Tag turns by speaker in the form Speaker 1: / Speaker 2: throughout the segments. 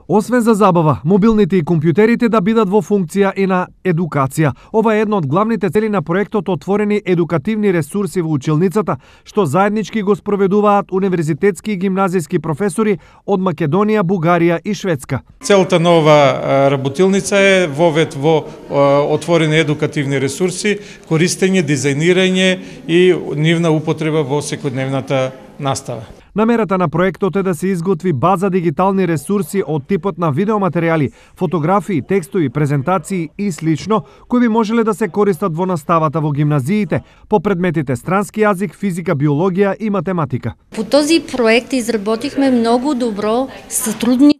Speaker 1: Освен за забава, мобилните и компјутерите да бидат во функција и на едукација. Ова е една од главните цели на проектот Отворени едукативни ресурси во училницата, што заеднички го спроведуваат универзитетски и гимназиски професори од Македонија, Бугарија и Шведска.
Speaker 2: Целта на ова работилница е вовед во отворени едукативни ресурси, користење, дизајнирање и нивна употреба во секојдневната настава.
Speaker 1: Намерата на проектот е да се изготви база дигитални ресурси од типот на видеоматеријали, фотографии, текстови, презентации и слично, кои би можеле да се користат во наставата во гимназиите по предметите странски јазик, физика, биологија и математика.
Speaker 3: По този проект изработихме многу добро сотрудничество.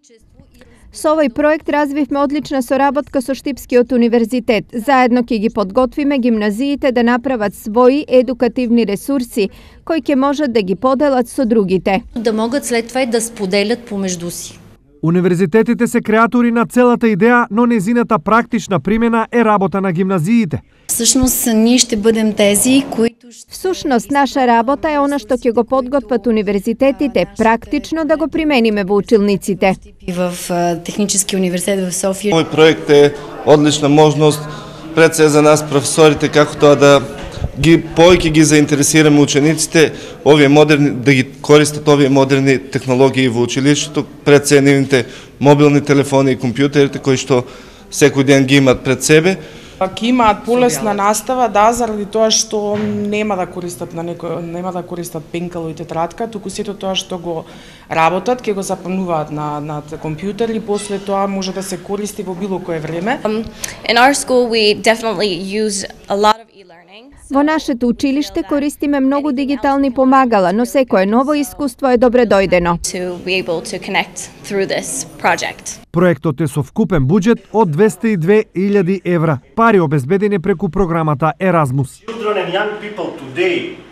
Speaker 4: Со овој проект развивме одлична соработка со Штипскиот универзитет. Заедно ќе ги подготвиме гимназиите да направат своји едукативни ресурси, кои ќе можат да ги поделат со другите.
Speaker 3: Да могат след това и да споделят помежду си.
Speaker 1: Универзитетите се креатори на целата идеја, но незината практична примена е работа на гимназиите.
Speaker 5: Всушност, ние ще бъдем тези, които...
Speaker 4: Всушност, наша работа е она што ќе го подготват универзитетите, практично да го примениме во училниците.
Speaker 5: В Технически университет в Софија.
Speaker 6: Овој проект е одлична можност пред се за нас професорите како тоа да повеќе ги заинтересираме учениците да ги користат овие модерни технологии во училиштето, пред се нивните мобилни телефони и компјутерите кои што секој ден ги имаат пред себе.
Speaker 7: Ќе имаат полесна настава, да, заради тоа што нема да користат пенкало и тетрадка, туку сето тоа што го работат, ќе го запомнуваат на компјутер и после тоа може да се користи во било кое време.
Speaker 8: In our school we definitely use a lot of e-learning.
Speaker 4: Во нашето училиште користиме многу дигитални помагала, но секое ново искуство е добре дојдено.
Speaker 8: To be able to connect through this project.
Speaker 1: Проектот е со вкупен буџет од 202.000 евра, пари обезбедени преку програмата Erasmus.
Speaker 9: Children and young people today